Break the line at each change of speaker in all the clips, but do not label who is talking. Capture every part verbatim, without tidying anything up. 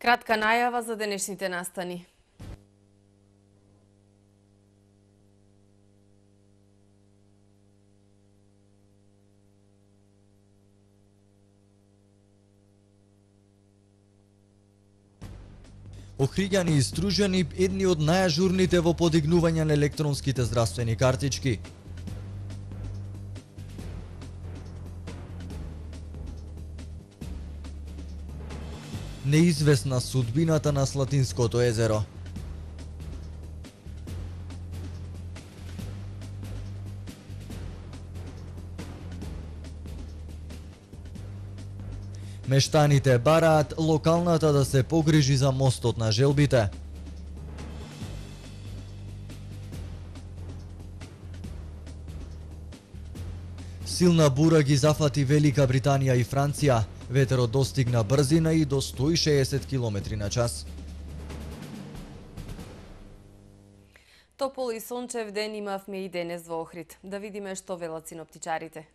Кратка најава за денешните настани.
Охриѓани и стружани едни од најажурните во подигнување на електронските здравствени картички. Неизвестна судбината на Слатинското езеро. Мештаните бараат локалната да се погрижи за мостот на желбите. Силна бура ги зафати Велика Британија и Франција. Ветерот достигна брзина и до сто и шеесет километри на час.
Топол и сончев ден имавме и денес во Охрид. Да видиме што велат синоптичарите.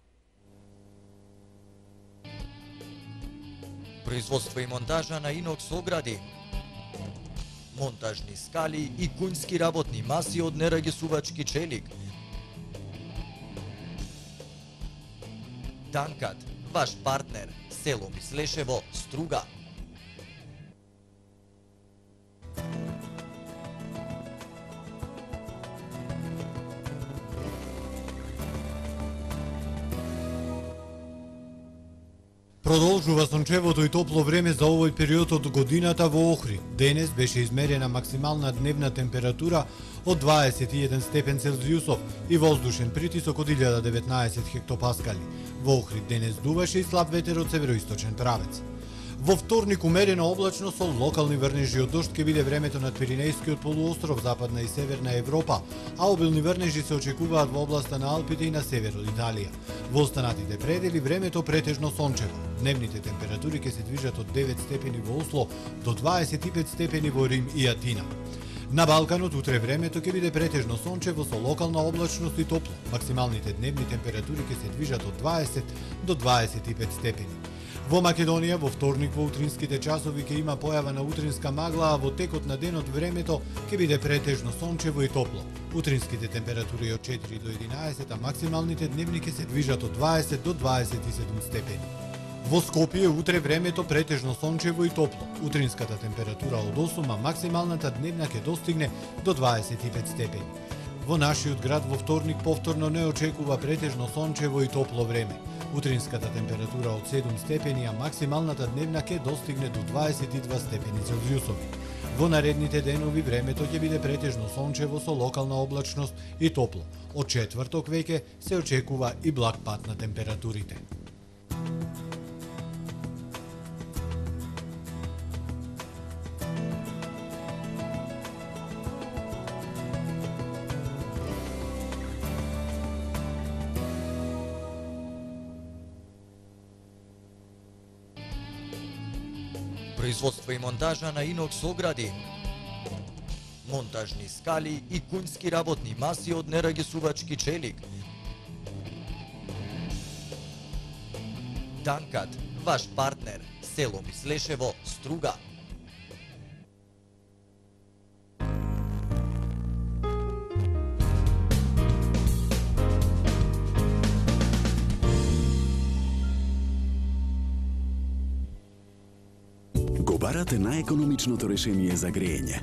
Производство и монтажа на инокс огради, монтажни скали и кунски работни маси од нерагесувачки челик. Данкат, ваш партнер, село Мислешево, Струга.
Продолжува сончевото и топло време за овој период од годината во Охрид. Денес беше измерена максимална дневна температура од дваесет и еден степен Целзиусов и воздушен притисок од илјада деветнаесет хектопаскали. Во Охрид денес дуваше и слаб ветер од североисточен правец. Во вторник умерена облачност со локални врнежи од дожд ќе биде времето над Пиринејскиот полуостров, западна и северна Европа, а обилни врнежи се очекуваат во областа на Алпите и на север од Италија. Во останатите предели времето претежно сончево. Дневните температури ќе се движат од девет степени во Осло до дваесет и пет степени во Рим и Атина. На Балканот утре времето ќе биде претежно сончево со локална облачност и топло. Максималните дневни температури ќе се движат од дваесет до дваесет и пет степени. Во Македонија во вторник во утринските часови ќе има појава на утринска магла, а во текот на денот времето ќе биде претежно сончево и топло. Утринските температури од четири до единаесет, а максималните дневни ќе се движат од дваесет до дваесет и седум степени. Во Скопје утре времето претежно сончево и топло. Утринската температура од осум, а максималната дневна ќе достигне до дваесет и пет степени. Во нашиот град во вторник повторно не очекува претежно сончево и топло време. Утринската температура од седум степени, а максималната дневна ќе достигне до дваесет и два степени Целзиусови. Во наредните денови времето ќе биде претежно сончево со локална облачност и топло. Од четврток веќе се очекува и благ пад на температурите.
Производство и монтажа на инокс огради, монтажни скали и кунски работни маси од нерагесувачки челик. Данкат, ваш партнер, село Мислешево, Струга.
Барате најекономичното решение за грејење.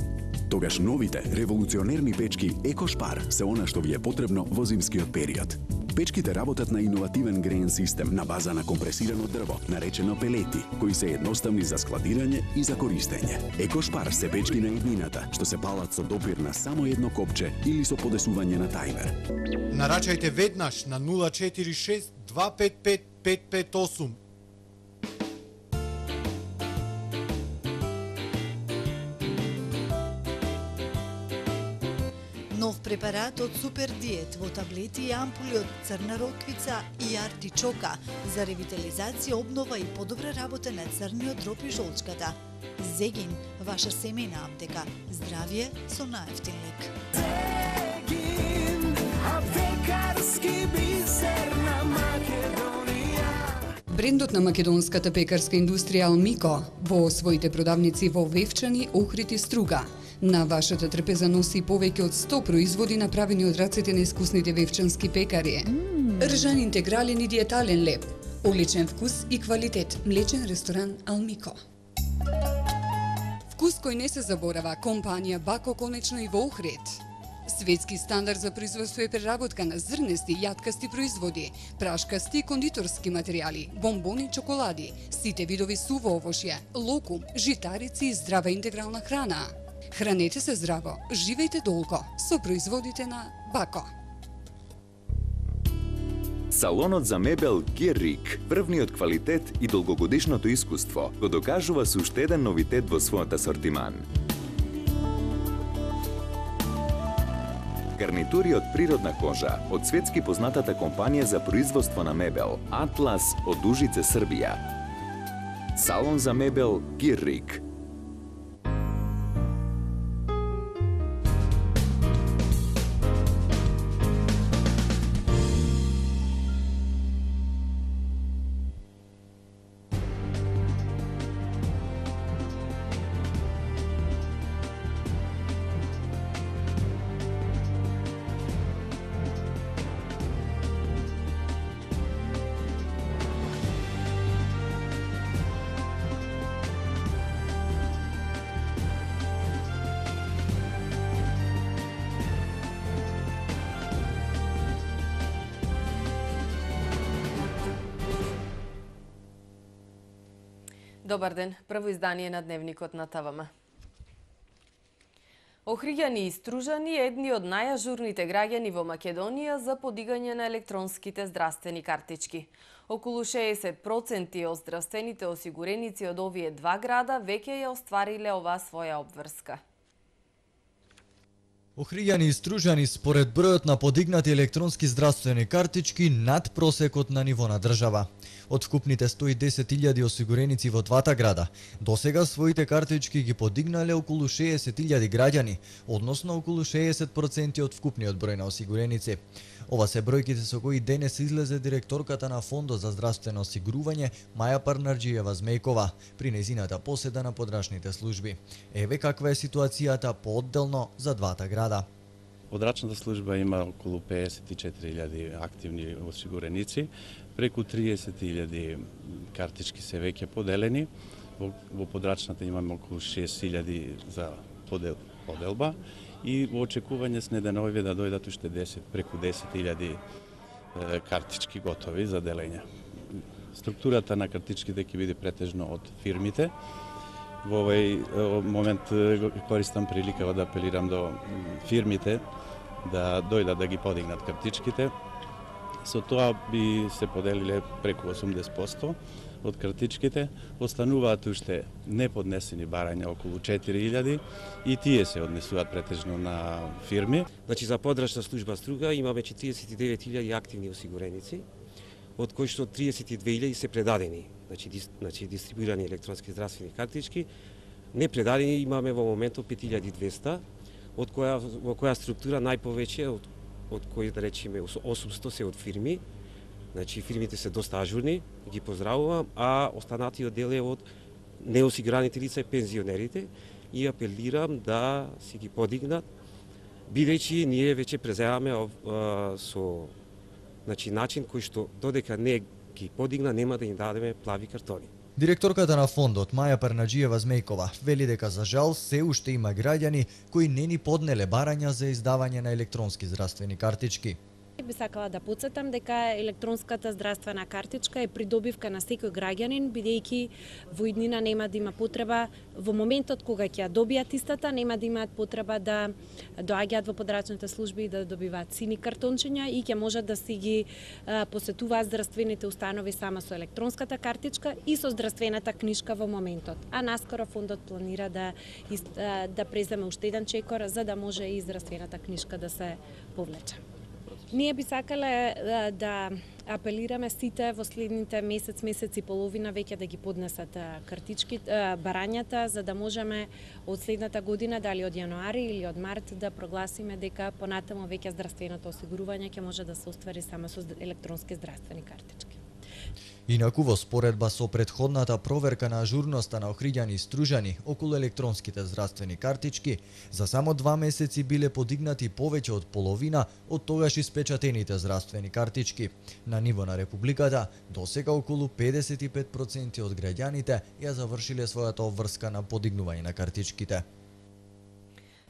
Тогаш новите револуционерни печки Екошпар се она што ви е потребно во зимскиот период. Печките работат на иновативен греен систем на база на компресирано дрво, наречено пелети, кои се едноставни за складирање и за користење. Екошпар се печки на иднината, што се палат со допир на само едно копче или со подесување на тајмер.
Нарачајте веднаш на нула четири шест два пет пет пет пет осум.
Нов препарат од Супер Диет во таблети и ампули од црна роквица и артичока за ревитализација, обнова и подобра работа на црниот дроп и жолчката. Зегин, ваша семејна аптека. Здравје со најевтин лек. Зегин, аптекарски бисер на Македонија.
Брендот на македонската пекарска индустрија Алмико во своите продавници во Вевчани, Охрид и Струга. На вашата трпеза носи повеќе од сто производи направени од рацете на искусните вевчански пекари. Mm. Ржан интегрален и диетален леп, одличен вкус и квалитет, млечен ресторан Алмико. Вкус кој не се заборава, компанија Бако конечно и во Охрид. Светски стандард за производство и преработка на зрнести, јаткасти производи, прашкасти и кондиторски материјали, бомбони, чоколади, сите видови суво овошје, локум, житарици и здрава интегрална храна. Хранете се здраво, живејте долго со производите на Бако.
Салонот за мебел Геррик, врвниот квалитет и долгогодишното искуство, го докажува со уште еден новитет во својот асортиман. Гарнитури од природна кожа од светски познатата компанија за производство на мебел Атлас од Ужице, Србија. Салон за мебел Геррик.
Добар ден, прво издание на Дневникот на ТВМ. Охриѓани и Стружани едни од најажурните граѓани во Македонија за подигање на електронските здравствени картички. Околу шеесет проценти од здравствените осигуреници од овие два града веќе ја оствариле оваа своја обврска.
Охриѓани и Стружани според бројот на подигнати електронски здравствени картички над просекот на ниво на држава. Од вкупните сто и десет илјади осигуреници во двата града, досега своите картички ги подигнале околу шеесет илјади граѓани, односно околу шеесет проценти од вкупниот број на осигуреници. Ова се бројките со кои денес излезе директорката на Фондот за здравствено осигурување Маја Парнарџиева Змејкова при нејзината поседа на подрачните служби. Еве каква е ситуацијата поодделно за двата града.
Подрачната служба има околу пеесет и четири илјади активни осигуреници, преку триесет илјади картички се веќе поделени. Во, во подрачната имаме околу шест илјади за подел, поделба и во очекување с неденови да дојдат уште десет, преку десет илјади картички готови за делење. Структурата на картичките ќе биде претежно од фирмите. Во овој момент користам прилика да апелирам до фирмите да дојдат да ги подигнат картичките. Со тоа би се поделиле преку осумдесет проценти од картичките, остануваат уште неподнесени барања околу четири илјади и тие се однесуваат претежно на фирми.
Значи за подрачна служба Струга имаме четиридесет и девет илјади активни осигуреници, од кои што триесет и две илјади се предадени, значи, дис, значи дистрибуирани електронски здравствени картички. Непредадени имаме во моментот пет илјади и двесте, од која во која структура најповеќе од од кои да речеме осумсто се од фирми. Значи фирмите се доста ажурни, ги поздравувам, а останатиот дел е од неосигураните лица и пензионерите и апелирам да си ги подигнат, бидејќи ние веќе преземаме со значи начин кој што додека не ги подигна нема да им дадеме плави картони.
Директорката на фондот Маја Парнарџиева Змејкова вели дека за жал се уште има граѓани кои не ни поднеле барања за издавање на електронски здравствени картички.
Би сакала да потсетам дека електронската здравствена картичка е придобивка на секој граѓанин, бидејќи во иднина нема да има потреба, во моментот кога ќе ја добијат истата, нема да имаат потреба да доаѓаат во подрачните служби и да добиваат сини картончиња и ќе можат да си ги а, посетуваат здравствените установи само со електронската картичка и со здравствената книшка во моментот. А наскоро фондот планира да, да преземе уште еден чекор за да може и здравствената книшка да се повлече. Ние би сакале да апелираме сите во следните месец, месец и половина веќе да ги поднесат картички, барањата, за да можеме од следната година, дали од јануари или од март, да прогласиме дека понатаму веќе здравственото осигурување ќе може да се оствари само со електронски здравствени картички.
Инаку во споредба со претходната проверка на ажурноста на Охриѓани и Стружани околу електронските здравствени картички, за само два месеци биле подигнати повеќе од половина од тогаш испечатените здравствени картички. На ниво на Републиката, досега околу педесет и пет проценти од граѓаните ја завршиле својата обврска на подигнување на картичките.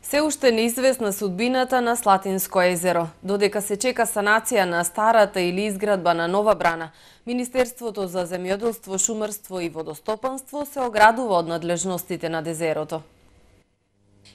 Се уште неизвестна судбината на Слатинско езеро. Додека се чека санација на старата или изградба на нова брана, Министерството за земјоделство, шумарство и водостопанство се оградува од надлежностите над езерото.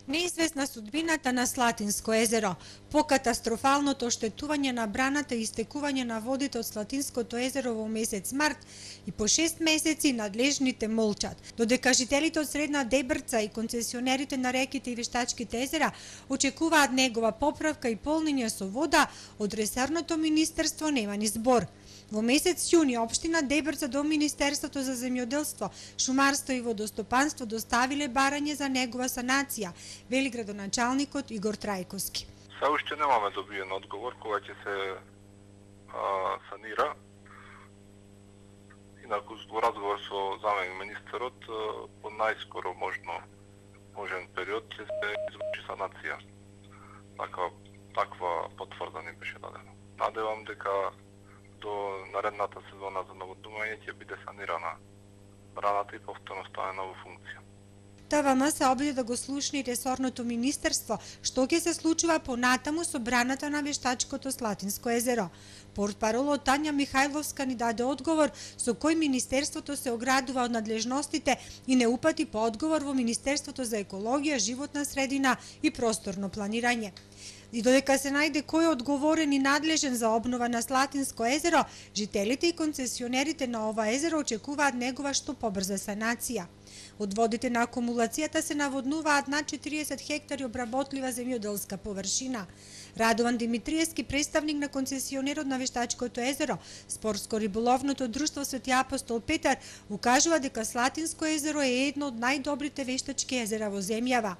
Неизвестна судбината на Слатинско езеро, по катастрофалното оштетување на браната и истекување на водите од Слатинското езеро во месец март и по шест месеци надлежните молчат. Додека жителите од Средна Дебрца и концесионерите на реките и вештачките езера очекуваат негова поправка и полнење со вода, од ресорното министерство нема ни збор. Во месец јуни општина Дебрца до Министерството за земјоделство, шумарство и водостопанство доставиле барање за негова санација, вели градоначалникот Игор Трајковски.
Се уште немаме добиен одговор кога ќе се а, санира. Инаку во разговор со заменик министерот по најскоро можно можен период ќе се изврши санација. Таква таква потврда ни беше дадена. Надевам дека до наредната сезона за наводнување ќе биде санирана браната и повторно ставена во функција.
ТВМ се обиде да го слушне и ресорното министерство што ќе се случува понатаму со браната на вештачкото Слатинско езеро. Портпаролот Тања Михајловска ни даде одговор со кој министерството се оградува од надлежностите и не упати по одговор во Министерството за екологија, животна средина и просторно планирање. И додека се најде кој е одговорен и надлежен за обнова на Слатинско езеро, жителите и концесионерите на ова езеро очекуваат негова што побрза санација. Од водите на акумулацијата се наводнуваат над четириесет хектари обработлива земјоделска површина. Радован Димитриевски, представник на концесионерот на Вештачкото езеро, Спортско-риболовното друштво Свети Апостол Петар, укажува дека Слатинско езеро е едно од најдобрите вештачки езера во земјава.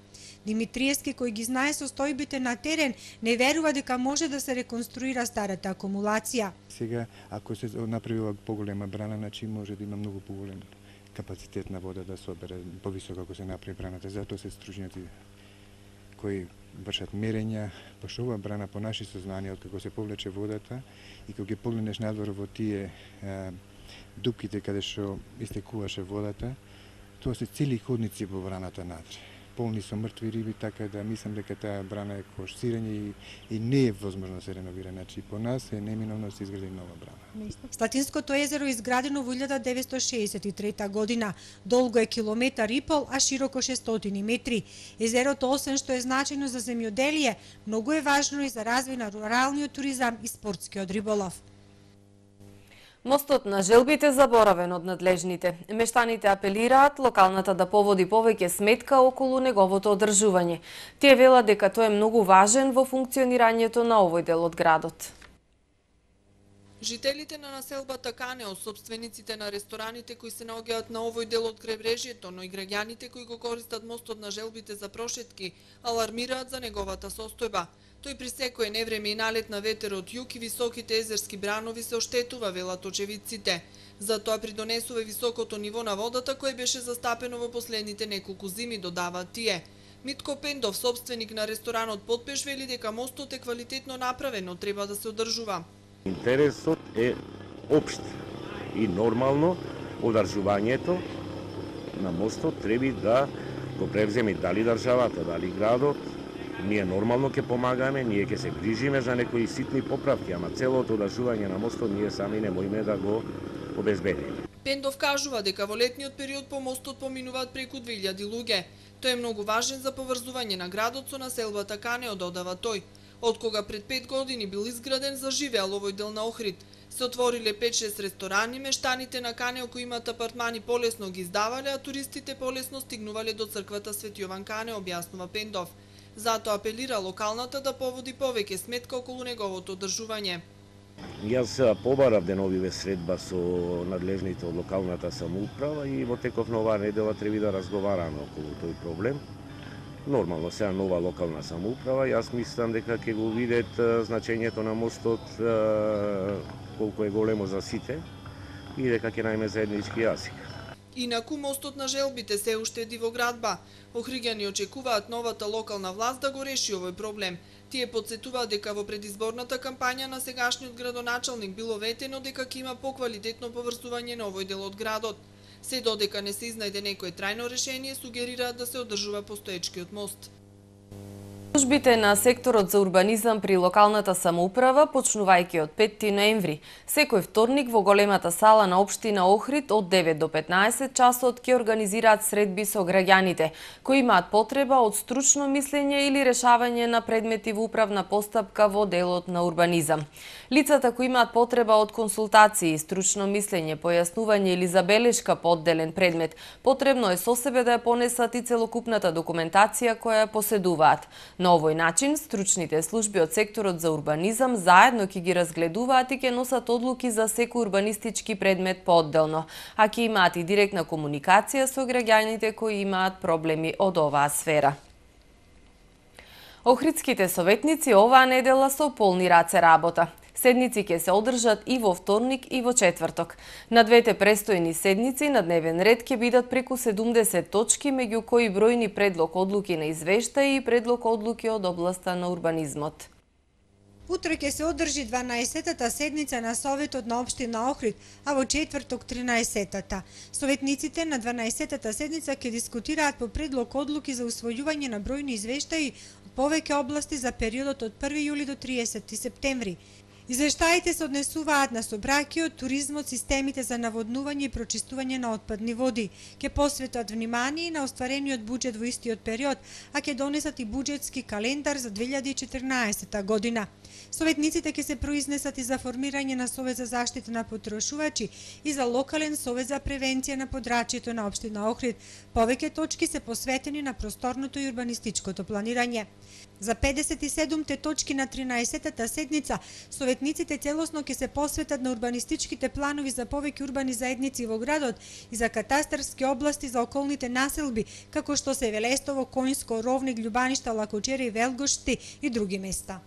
Димитриевски, кој ги знае состојбите на терен, не верува дека може да се реконструира старата акумулација.
Сега, ако се направи поголема брана, значи може да има многу поголем капацитет на вода да се обере повисоко ако се направи браната. Затоа се стружњаци кои вршат мерења, пошто ова брана по наши сознанија, откако се повлече водата и кога ги погледнеш надвор во тие а, дупките каде што истекуваше водата, тоа се цели ходници во браната надре. Полни со мртви риби, така да мислам дека таа брана е кош сирење и, и не е возможно да се реновира. Значи по нас е неминовно да се изгради нова брана.
Слатинското езеро е изградено во илјада деветстотини шеесет и трета година. Долго е километар и пол, а широко шестстотини метри. Езерото, освен што е значајно за земјоделие, многу е важно и за развој на руралниот туризам и спортскиот риболов.
Мостот на Желбите заборавен од надлежните. Мештаните апелираат локалната да поводи повеќе сметка околу неговото одржување. Тие велат дека тој е многу важен во функционирањето на овој дел од градот.
Жителите на населбата Канео, собствениците на рестораните кои се наоѓаат на овој дел од кребрежјето, но и граѓаните кои го користат мостот на Желбите за прошетки, алармираат за неговата состојба. Тој при секое невреме и налет на ветер од југ и високите езерски бранови се оштетува, велат очевидците. Затоа придонесува високото ниво на водата кое беше застапено во последните неколку зими, додаваат тие. Митко Пендов, собственик на ресторанот Потпеш, вели дека мостот е квалитетно направен, но треба да се одржува.
Интересот е општ и нормално одржувањето на мостот треба да го превземе дали државата, дали градот. Ние нормално ќе помагаме, ние ќе се грижиме за некои ситни поправки, ама целото одржување на мостот ние сами не можеме да го обезбедиме.
Пендов кажува дека во летниот период по мостот поминуваат преку две илјади луѓе. Тој е многу важен за поврзување на градот со населбата Канео, додава тој. Откога пред пет години бил изграден, заживеал овој дел на Охрид. Се отвориле пет-шест ресторани, мештаните на Канео кои имаат апартмани полесно ги издавале, а туристите полесно стигнувале до црквата Свети Јован Канео, објаснува Пендов. Затоа апелира локалната да поводи повеќе сметка околу неговото одржување.
Јас побарав деновиве средба со надлежните од локалната самоуправа и во теков на оваа недела треба да разговараме околу тој проблем. Нормално, сега нова локална самоуправа, јас мислам дека ќе го видат значењето на мостот колку е големо за сите, и дека ќе најме заеднички јазик.
Инаку мостот на желбите се уште дивоградба. Охриѓани очекуваат новата локална власт да го реши овој проблем. Тие подсетуваат дека во предизборната кампања на сегашниот градоначалник било ветено дека ќе има поквалитетно поврзување на овој дел од градот. Се додека не се изнајде некое трајно решение, сугерираат да се одржува постоечкиот мост.
Службите на секторот за урбанизам при локалната самоуправа, почнувајќи од петти ноември, секој вторник во големата сала на општина Охрид од девет до петнаесет часот ќе организираат средби со граѓаните, кои имаат потреба од стручно мислење или решавање на предмети во управна постапка во делот на урбанизам. Лицата кои имаат потреба од консултации, стручно мислење, појаснување или забелешка по одделен предмет, потребно е со себе да ја понесат и целокупната документација која ја поседуваат. На овој начин, стручните служби од секторот за урбанизам заедно ќе ги разгледуваат и ќе носат одлуки за секој урбанистички предмет поодделно, а ќе имаат и директна комуникација со граѓаните кои имаат проблеми од оваа сфера. Охридските советници оваа недела со полни раце работа. Седници ќе се одржат и во вторник и во четврток. На двете престојни седници на дневен ред ќе бидат преку седумдесет точки, меѓу кои бројни предлог одлуки на извештаи и предлог одлуки од областа на урбанизмот.
Утре ќе се одржи дванаесеттата седница на Советот на општина Охрид, а во четврток тринаесеттата. Советниците на дванаесеттата седница ќе дискутираат по предлог одлуки за усвојување на бројни извештаи од повеќе области за периодот од први јули до триесети септември. Извештаите се однесуваат на собраќиот, туризмот, системите за наводнување и прочистување на отпадни води. Ќе посветат внимание на остварениот буџет во истиот период, а ќе донесат и буџетски календар за две илјади и четрнаесетта година. Советниците ќе се произнесат и за формирање на Совет за заштита на потрошувачи и за локален Совет за превенција на подрачјето на општина Охрид. Повеќе точки се посветени на просторното и урбанистичкото планирање. За педесет и седумте точки на тринаесеттата седница, советниците целосно ќе се посветат на урбанистичките планови за повеќе урбани заедници во градот и за катастарски области за околните населби, како што се Велестово, Коњско, Ровник, Љубаништа, Лакочери, Велгошти и други места.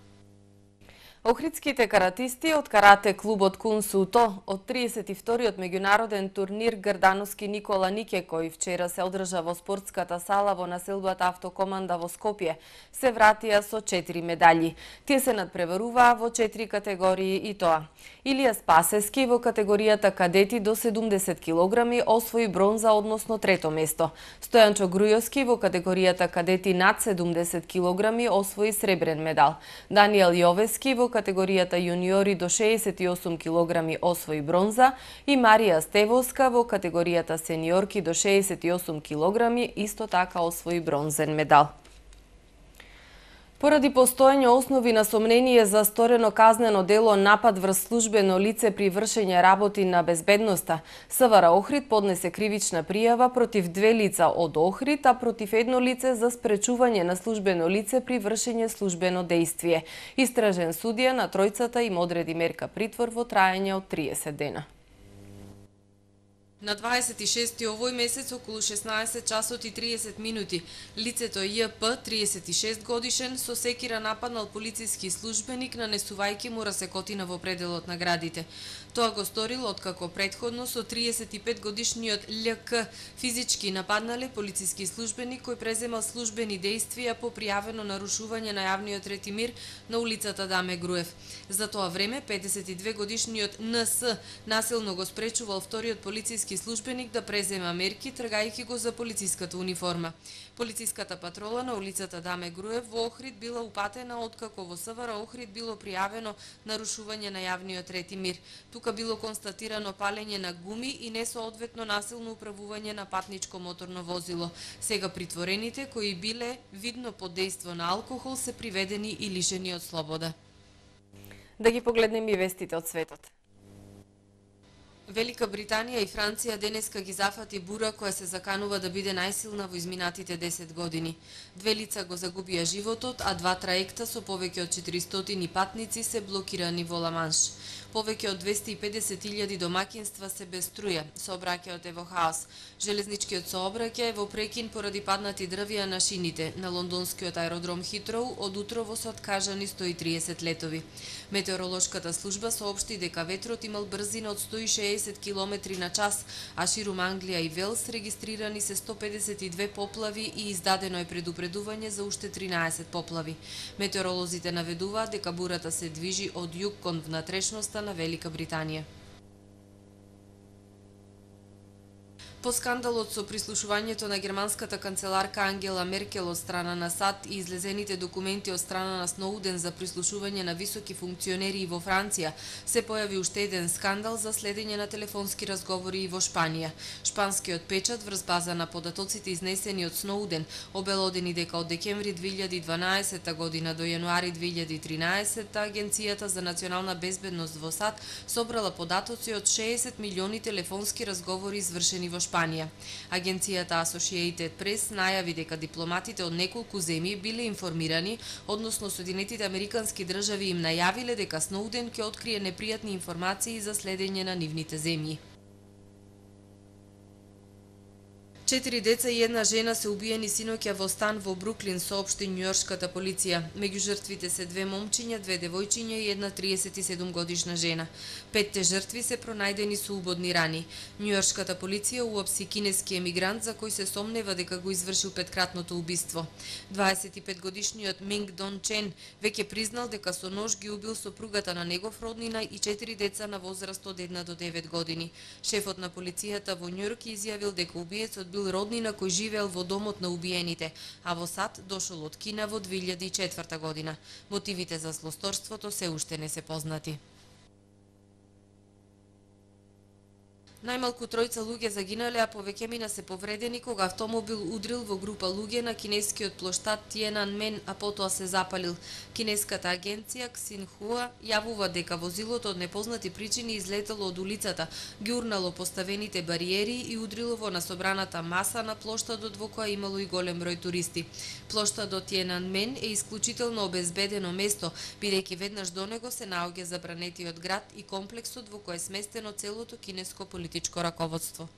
Охридските каратисти од карате клубот Кун Суто од триесет и вториот меѓународен турнир Грдановски Никола Нике, кој вчера се одржа во спортската сала во населбата Автокоманда во Скопје, се вратија со четири медаљи. Тие се надпреваруваа во четири категории и тоа. Илија Спасески во категоријата кадети до седумдесет килограми освои бронза, односно трето место. Стојанчо Грујовски во категоријата кадети над седумдесет килограми освои сребрен медал. Даниел Јовески во категоријата јуниори до шеесет и осум килограми освои бронза и Марија Стевоска во категоријата сениорки до шеесет и осум килограми исто така освои бронзен медал. Поради постоење основи на сомнение за сторено казнено дело напад врз службено лице при вршење работи на безбедноста, СВР Охрид поднесе кривична пријава против две лица од Охрид, а против едно лице за спречување на службено лице при вршење службено дејствие. Истражен судија на тројцата им одреди мерка притвор во траење од триесет дена. На дваесет и шести овој месец околу шеснаесет часот и триесет минути лицето Ј.П. триесет и шест годишен со секира нападнал полициски службеник нанесувајќи му расекотина во пределот на градите. Тоа го сторил откако претходно со триесет и пет годишниот Л.К. физички нападнале полициски службеник кој преземал службени дејствија по пријавено нарушување на јавниот ред и мир на улицата Даме Груев. За тоа време педесет и две годишниот Н.С. насилно го спречувал вториот полициски службеник да презема мерки, тргајќи го за полициската униформа. Полициската патрола на улицата Даме Груев во Охрид била упатена откако во СВР Охрид било пријавено нарушување на јавниот ред и мир. Тука било констатирано палење на гуми и несоодветно насилно управување на патничко моторно возило. Сега притворените кои биле видно под дејство на алкохол се приведени и лишени од слобода. Да ги погледнеме и вестите од светот. Велика Британија и Франција денеска ги зафати бура која се заканува да биде најсилна во изминатите десет години. Две лица го загубија животот, а два траекта со повеќе од четиристотини патници се блокирани во Ла Манш. Повеќе од двесте и педесет илјади домакинства се без струја. Сообраќајот е во хаос. Железничкиот сообраќај е во прекин поради паднати дрвја на шините. На лондонскиот аеродром Хитроу од утрово се откажани сто и триесет летови. Метеоролошката служба соопшти дека ветрот имал брзина од сто и шеесет километри на час, а ширум Англија и Велс регистрирани се сто педесет и две поплави и издадено е предупредување за уште тринаесет поплави. Метеоролозите наведуваат дека бурата се движи од југ кон внатрешноста на Велика Британија. По скандалот со прислушувањето на германската канцеларка Ангела Меркел од страна на САД и излезените документи од страна на Сноуден за прислушување на високи функционери во Франција, се појави уште еден скандал за следење на телефонски разговори и во Шпанија. Шпанскиот печат врз база на податоците изнесени од Сноуден обелодени дека од декември две илјади и дванаесета година до јануари две илјади и тринаесета Агенцијата за национална безбедност во САД собрала податоци од шеесет милиони телефонски разговори извршени во Шпанија. Шпанија. Агенцијата Associated Press најави дека дипломатите од неколку земји биле информирани, односно Соединетите Американски држави им најавиле дека Сноуден ќе открие непријатни информации за следење на нивните земји. Четири деца и една жена се убиени синоќа во стан во Бруклин, соопшти њујоршката полиција. Меѓу жртвите се две момчиња, две девојчиња и една триесет и седум годишна жена. Петте жртви се пронајдени со убодни рани. Њујоршката полиција уапси кинески емигрант за кој се сомнева дека го извршил петкратното убиство. дваесет и пет годишниот Минг Дон Чен веќе признал дека со нож ги убил сопругата на негов роднина и четири деца на возраст од една до девет години. Шефот на полицијата во Њујорк изјавил дека убиецот бил роднина кој живеел во домот на убиените, а во САД дошол од Кина во две илјади и четврта година. Мотивите за злосторството се уште не се познати. Најмалку тројца луѓе загинале, а повеќемина се повредени кога автомобил удрил во група луѓе на кинескиот плоштад Тиенанмен, а потоа се запалил. Кинеската агенција Ксинхуа јавува дека возилото од непознати причини излетело од улицата, ги урнало поставените бариери и удрило во насобраната маса на плоштадот во која имало и голем број туристи. Плоштадот Тиенанмен е исклучително обезбедено место, бидејќи веднаш до него се наоѓа забранетиот град и комплексот во кој е сместено целото кинеско политичко раководство.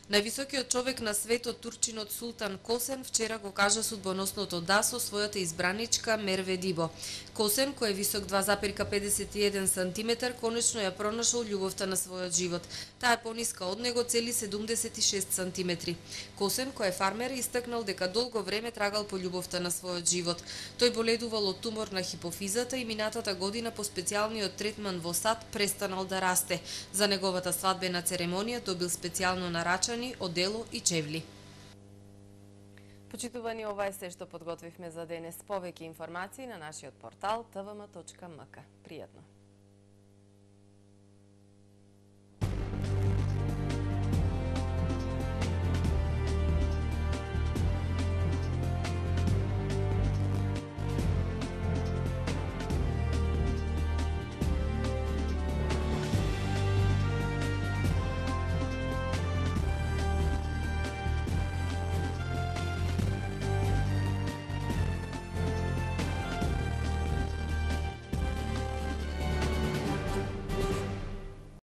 Највисокиот човек на светот, турчинот Султан Косен, вчера го кажа судбоносното да со својата избраничка Мерве Дибо. Косен, кој е висок два запирка педесет и еден сантиметар, конечно ја пронашол љубовта на својот живот. Таа е пониска од него цели седумдесет и шест сантиметри. Косен, кој е фармер, истакнал дека долго време трагал по љубовта на својот живот. Тој боледувал од тумор на хипофизата и минатата година по специјалниот третман во САД престанал да расте. За неговата свадбена церемонија добил специјално нарачани одело и чевли.
Почитувани, ова е се што подготвивме за денес. Повеќе информации на нашиот портал т в м точка м к. Пријатно!